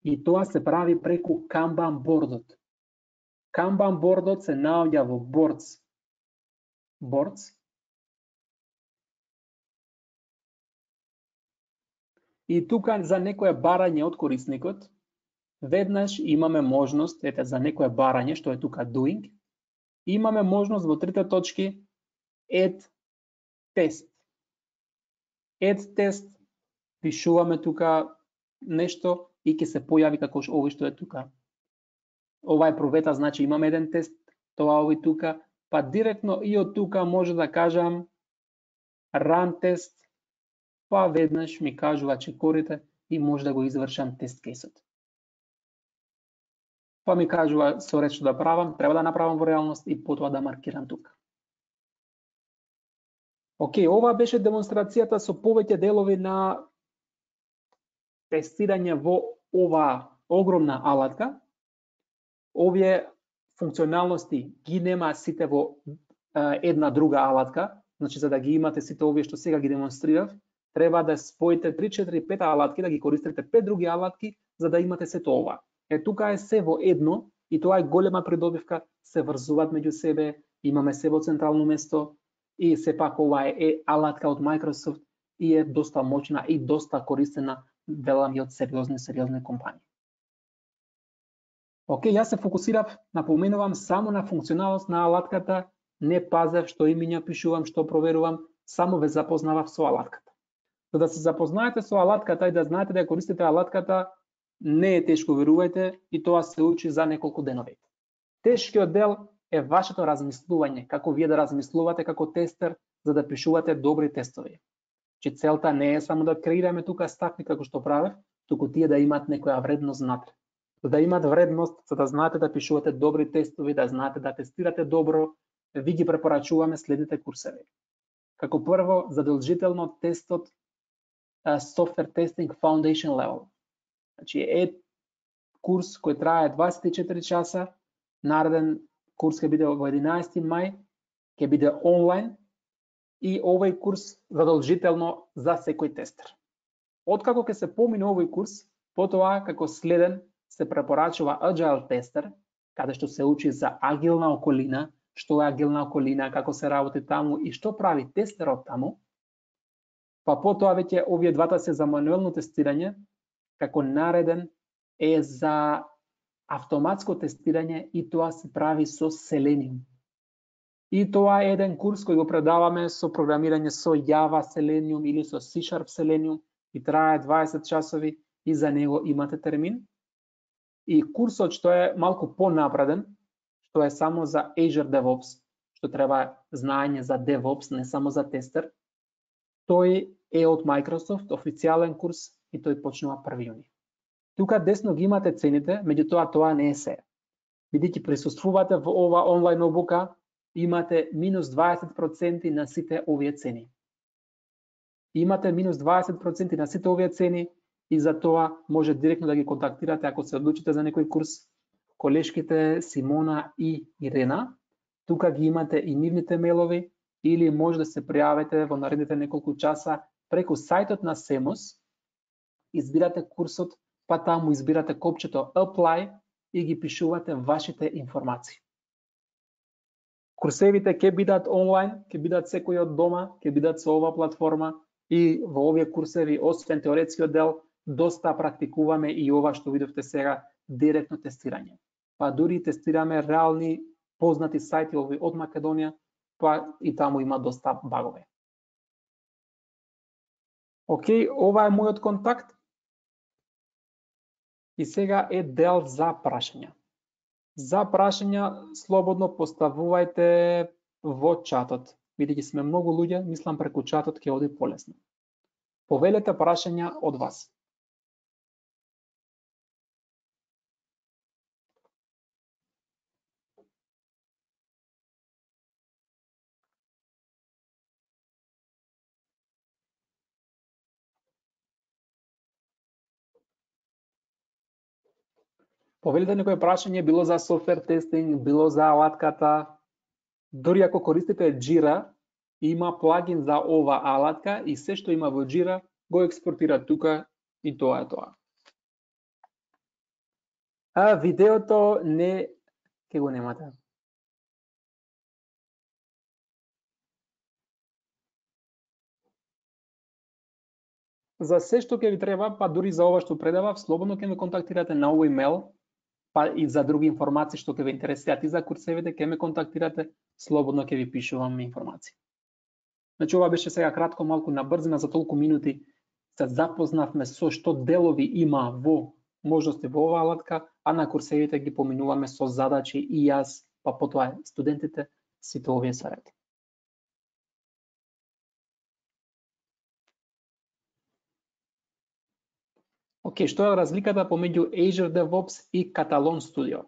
и тоа се прави преку Kanban бордот. Kanban бордот се наоѓа во Boards. И тука за некое барање од корисникот, веднаш имаме можност, ете за некое барање, што е тука Doing, имаме можност во трите точки Add Test. Add Test, пишуваме тука нешто и ќе се појави како овој што е тука. Ова е провета, значи имаме еден тест, тоа овој тука, па директно и од тука може да кажам Run Test, па веднаш ми кажува чекорите и може да го извршам тест кейсот. Па ми кажува со ред што да правам, треба да направам во реалност и потоа да маркирам тука. Океј, ова беше демонстрацијата со повеќе делови на тестирање во ова огромна алатка. Овие функционалности ги нема сите во една друга алатка, значи за да ги имате сите овие што сега ги демонстрирав, треба да споите 3, 4, 5 алатки, да ги користите 5 други алатки, за да имате сето ова. Тука е се во едно и тоа е голема придобивка, се врзуваат меѓу себе, имаме се во централно место и сепак ова е алатка од Microsoft и е доста моćна и доста користена, велам и од сериозни компании. Океј, јас се фокусирав, напоменувам само на функционалност на алатката, не пазев што имиња пишувам, што проверувам, само ве запознавав со алатката. За да се запознаете со алатката и да знаете да ја користите алатката, не е тешко, верувајте, и тоа се учи за неколку денови. Тешкиот дел е вашето размислување, како вие да размислувате како тестер за да пишувате добри тестови. Че целта не е само да креираме тука ставки како што правев, туку тие да имаат некоја вредност внатре. За да имаат вредност, за да знаете да пишувате добри тестови, да знаете да тестирате добро, ви ги препорачуваме следните курсеви. Како прво, задолжително тестот Software Testing Foundation Level. Значи е курс кој трае 24 часа, нареден курс ќе биде во 11 мај, ќе биде онлайн и овој курс задолжително за секој тестер. Откако ќе се помине овој курс, потоа како следен се препорачува Agile Tester, каде што се учи за агилна околина, што е агилна околина, како се работи таму и што прави тестерот таму. Па потоа веќе овие двата се за мануелно тестирање, како нареден е за автоматско тестирање и тоа се прави со Selenium. И тоа е еден курс кој го предаваме со програмирање со Java Selenium или со C# Selenium и трае 20 часови и за него имате термин. И курсот што е малку понапреден, што е само за Azure DevOps, што треба знаење за DevOps, не само за тестер, тој е од Microsoft, официјален курс и тој почнува 1 јуни. Тука десно ги имате цените, меѓутоа тоа не е се. Бидејќи присуствувате во ова онлайн обука, имате минус 20% на сите овие цени. Имате минус 20% на сите овие цени и за тоа може директно да ги контактирате ако се одлучите за некој курс. Колешките Симона и Ирена, тука ги имате и нивните мейлови или може да се пријавите во наредните неколку часа преку сајтот на Semos избирате курсот, па таму избирате копчето Apply и ги пишувате вашите информации. Курсевите ќе бидат онлайн, ќе бидат секој од дома, ќе бидат со ова платформа и во овие курсеви, освен теоретскиот дел, доста практикуваме и ова што видовте сега, директно тестирање. Па дури тестираме реални познати сајти од Македонија, па и таму има доста багове. Океј, ова е мојот контакт. И сега е дел за прашања. За прашања слободно поставувајте во чатот. Бидејќи сме многу луѓе, мислам преку чатот ќе оди полесно. Повелете прашања од вас. Повелите некој прашање, било за софтвер тестинг, било за алатката. Дори ако користите Jira, има плагин за ова алатка и се што има во Jira го експортира тука и тоа е тоа. А видеото не ќе го немате. За се што ќе ви треба, па дури за ова што предавав, слободно ќе ме контактирате на овој мейл, па и за други информации што ќе ве интересираат и за курсевите, ќе ме контактирате, слободно ќе ви пишувам информации. Значи ова беше сега кратко, малку набрзина, за толку минути се запознавме со што делови има во можности во оваа алатка, а на курсевите ги поминуваме со задачи и јас, па потоа студентите, сите овие се ред. Океј, што е разликата помеѓу Azure DevOps и Catalon Studio?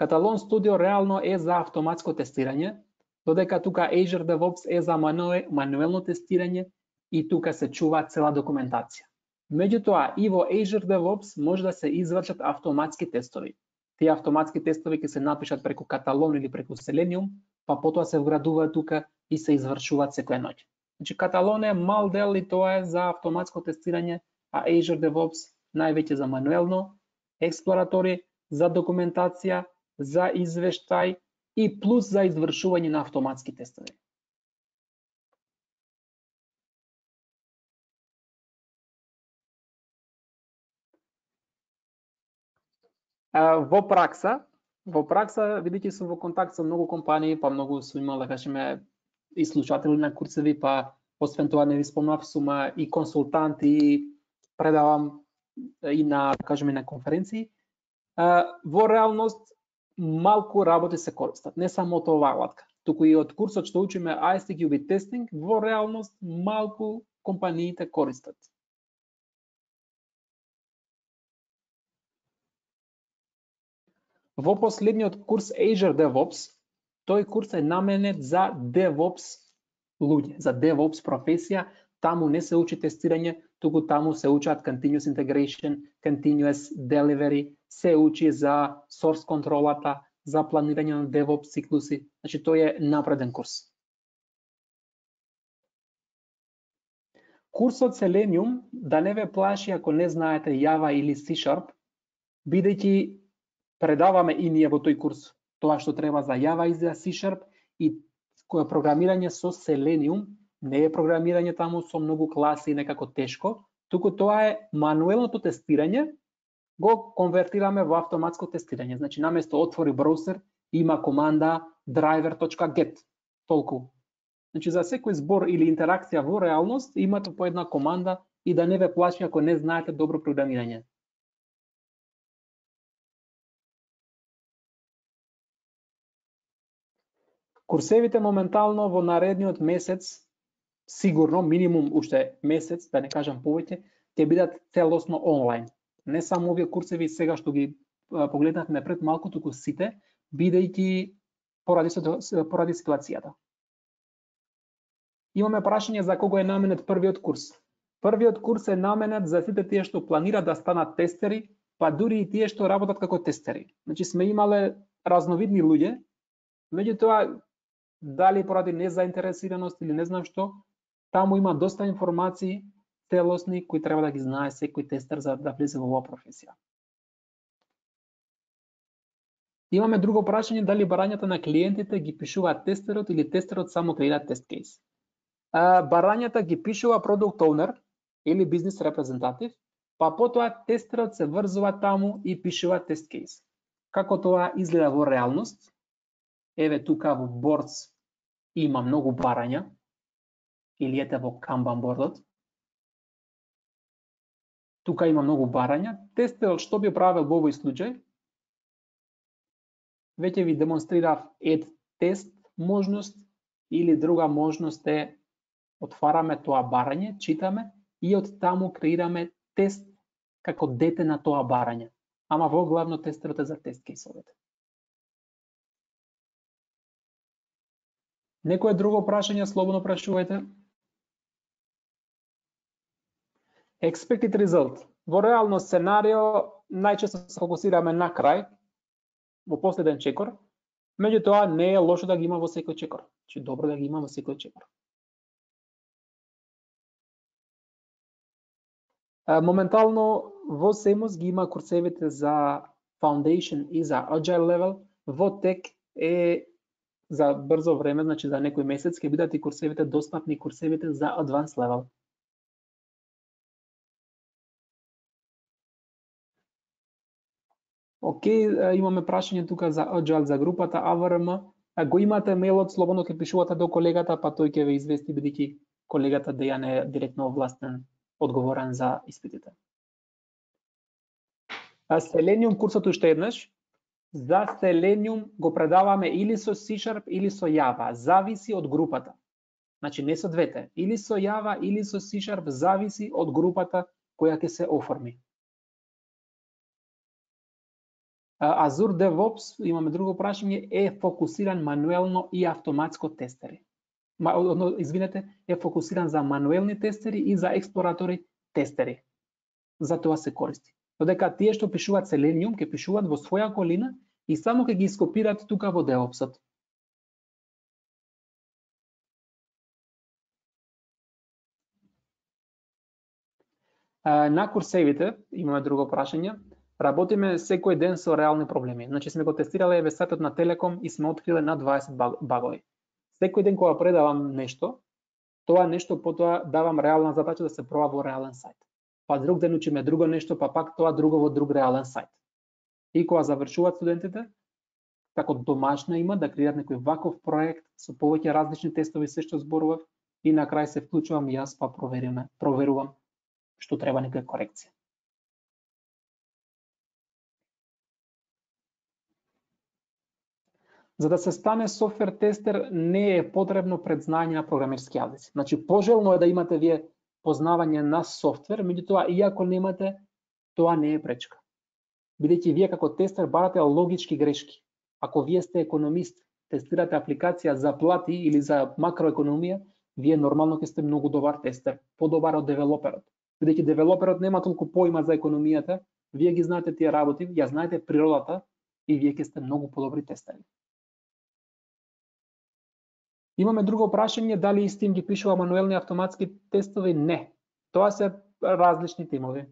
Catalon Studio реално е за автоматско тестирање, додека тука Azure DevOps е за мануелно тестирање и тука се чува цела документација. Меѓутоа, и во Azure DevOps може да се извршат автоматски тестови. Тие автоматски тестови ќе се напишат преку Catalon или преку Selenium, па потоа се вградуваат тука и се извршуваат секоја ноќ. Значи, Catalon е мал дел и тоа е за автоматско тестирање, а Azure DevOps највеќе за мануелно, експлоратори, за документација, за извештај и плюс за извршување на автоматски тестови. Во пракса, видејќи сум во контакт со многу компании, па многу сум имал, да кажеме, и слушатели на курсеви, па освен тоа не ви спомнав, сум и консултант и предавам и на, да кажеме, на конференции. Во реалност малку работи се користат, не само од оваа алатка, туку и од курсот што учиме ISTQB тестинг, во реалност малку компаниите користат. Во последниот курс Azure DevOps, тој курс е наменет за DevOps луѓе, за DevOps професија. Таму не се учи тестирање, туку таму се учат continuous integration, continuous delivery, се учи за source контролата, за планирање на DevOps циклуси. Значи тој е напреден курс. Курсот Selenium да не ве плаши ако не знаете Java или C#, бидејќи предаваме и ние во тој курс тоа што треба за Java и за C# и кој програмирање со Selenium. Не е програмирање таму со многу класи и некако тешко, туку тоа е мануелното тестирање, го конвертираме во автоматско тестирање. Значи, наместо отвори браузер, има команда driver.get. Толку. Значи, за секој збор или интеракција во реалност, имате по една команда и да не ве плаши ако не знаете добро програмирање. Курсевите моментално во наредниот месец, сигурно, минимум уште месец, да не кажам повеќе, ќе бидат целосно онлайн. Не само овие курсеви сега што ги погледнавме пред малку, туку сите, бидејќи поради ситуацијата. Имаме прашање за кого е наменет првиот курс. Првиот курс е наменет за сите тие што планираат да станат тестери, па дури и тие што работат како тестери. Значи сме имале разновидни луѓе, меѓутоа дали поради незаинтересираност или не знам што, таму има доста информации, целосни кои треба да ги знае секој тестер за да влезе во оваа професија. Имаме друго прашање, дали барањата на клиентите ги пишуваат тестерот или тестерот само креира тест кейс. Барањата ги пишува продукт оунер или бизнис репрезентатив, па потоа тестерот се врзува таму и пишува тест кейс. Како тоа изгледа во реалност? Еве тука во Boards има многу барања, или ете во Kanban бордот. Тука има многу барања. Тестерот што би правил во овој случај? Веќе ви демонстрирав add тест можност или друга можност е отвараме тоа барање, читаме и од таму креираме тест како дете на тоа барање. Ама во главно тестерот е за тест кейсовете. Некое друго прашање, слободно прашувајте. Expected result. Во реално сценарио најчесто се фокусираме на крај, во последен чекор, меѓутоа не е лошо да ги има во секој чекор. Че добро да ги има во секој чекор. Моментално во Semos ги има курсевите за Foundation и за Agile Level, во Tech е за брзо време, значи за некој месец ќе бидат и курсевите достапни, курсевите за Advanced Level. Океј, имаме прашање тука за Agile за групата AVRM. Го имате мејлот, слободно ќе пишувате до колегата, па тој ќе ве извести бидејќи колегата Дејан е директно овластен, одговорен за испитите. Selenium курсот уште еднаш. За Selenium го предаваме или со C# или со Java, зависи од групата. Значи не со двете, или со Java или со C#, зависи од групата која ќе се оформи. Azure DevOps, имаме друго прашање, е фокусиран мануелно и автоматско тестери. Извинете, е фокусиран за мануелни тестери и за експлоратори тестери. За тоа се користи. Додека тие што пишуваат Selenium, ќе пишуваат во своја колина и само ќе ги скопираат тука во DevOps-от. На курсевите, имаме друго прашање, работиме секој ден со реални проблеми. Значи сме го тестирале еве сајтот на Телеком и сме откриле над 20 багови. Секој ден кога предавам нешто, тоа нешто потоа давам реална задача да се проба во реален сајт. Па друг ден учиме друго нешто, па пак тоа друго во друг реален сајт. И кога завршуваат студентите, како домашно има да креираат некој ваков проект со повеќе различни тестови, се што зборував, и на крај се вклучувам и јас па проверувам што треба некоја корекција. За да се стане софтвер тестер не е потребно предзнање на програмерски јазици. Значи пожелно е да имате вие познавање на софтвер, меѓутоа иако немате, тоа не е пречка. Бидејќи вие како тестер барате логички грешки. Ако вие сте економист, тестирате апликација за плати или за макроекономија, вие нормално ќе сте многу добар тестер, подобар од девелоперот. Бидејќи девелоперот нема толку поима за економијата, вие ги знаете тие работи, ја знаете природата и вие ќе сте многу подобри тестери. Имаме друго прашање, дали Steam ги пишува мануелни автоматски тестови? Не. Тоа се различни тимови.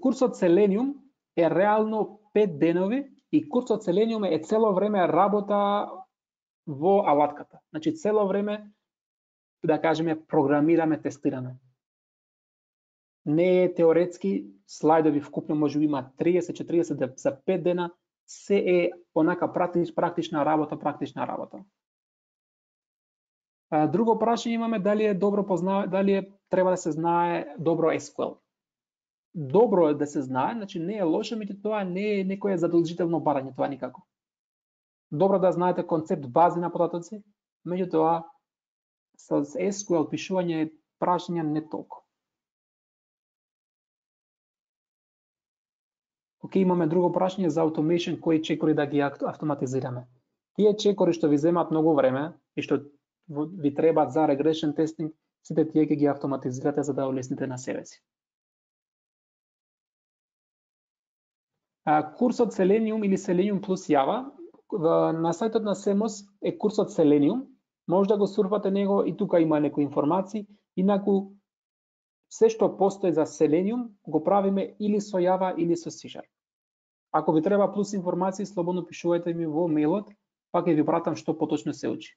Курсот Selenium е реално 5 денови и курсот Selenium е цело време работа во алатката. Значи цело време, да кажеме, програмираме, тестираме. Не е теоретски, слайдови вкупно може би има 30-40 за 5 дена, се е онака практична работа. Друго прашање имаме, дали треба да се знае добро SQL. Добро е да се знае, значи не е лошо, меѓутоа тоа не е некое задолжително барање, тоа никако. Добро да знаете концепт бази на податоци, меѓутоа со SQL пишување прашања не толку. Океј, имаме друго прашање за automation, кои чекори да ги автоматизираме. Тие чекори што ви земаат многу време и што ви требаат за regression testing, сите тие ќе ги автоматизирате за да улесните на себе си. Курсот Selenium или Selenium плюс Java, на сајтот на Semos е курсот Selenium, може да го сурфате него и тука има некои информации, инаку се што постои за Selenium го правиме или со Java или со C#. Ако ви треба плюс информации, слободно пишувајте ми во мејлот, па ќе ви пратам што поточно се учи.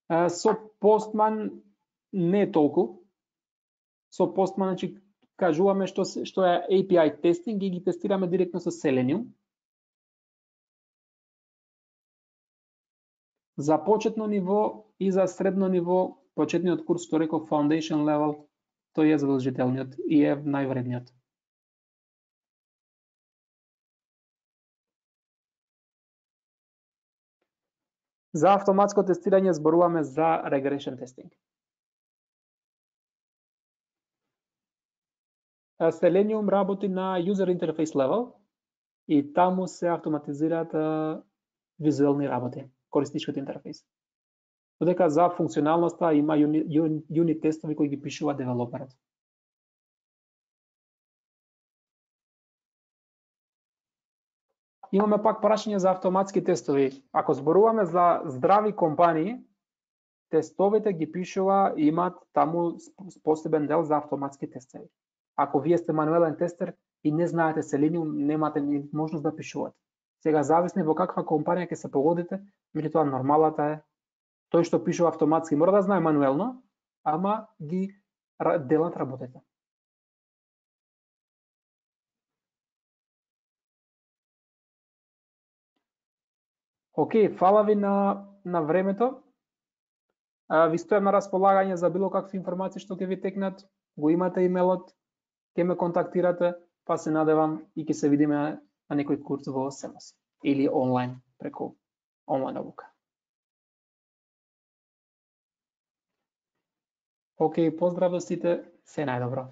Со Postman не е толку. Со Postman, значи, кажуваме што е API тестинг и ги тестираме директно со Selenium. За почетно ниво и за средно ниво, почетниот курс што реков Foundation Level, тој е задолжителниот и е највредниот. За автоматско тестирање зборуваме за regression testing. Selenium работи на user interface level и таму се автоматизираат визуелни работи, користничкиот интерфејс. Додека за функционалноста има юнит тестови кои ги пишува девелоперот. Имаме пак прашање за автоматски тестови. Ако зборуваме за здрави компании, тестовите ги пишува и имаат таму посебен дел за автоматски тестови. Ако вие сте мануелен тестер и не знаете Selenium, немате ни можност да пишувате. Сега зависи во каква компанија ќе се погодите, меѓутоа нормалата е тој што пишува автоматски мора да знае мануелно, ама ги делат работите. Океј, фала ви на времето. Ви стојам на располагање за било какви информации што ќе ви текнат. Го имате имејлот, ќе ме контактирате, па се надевам и ќе се видиме на некој курс во Semos или онлайн преку онлайн обука. Океј, поздрав до сите, се најдобро.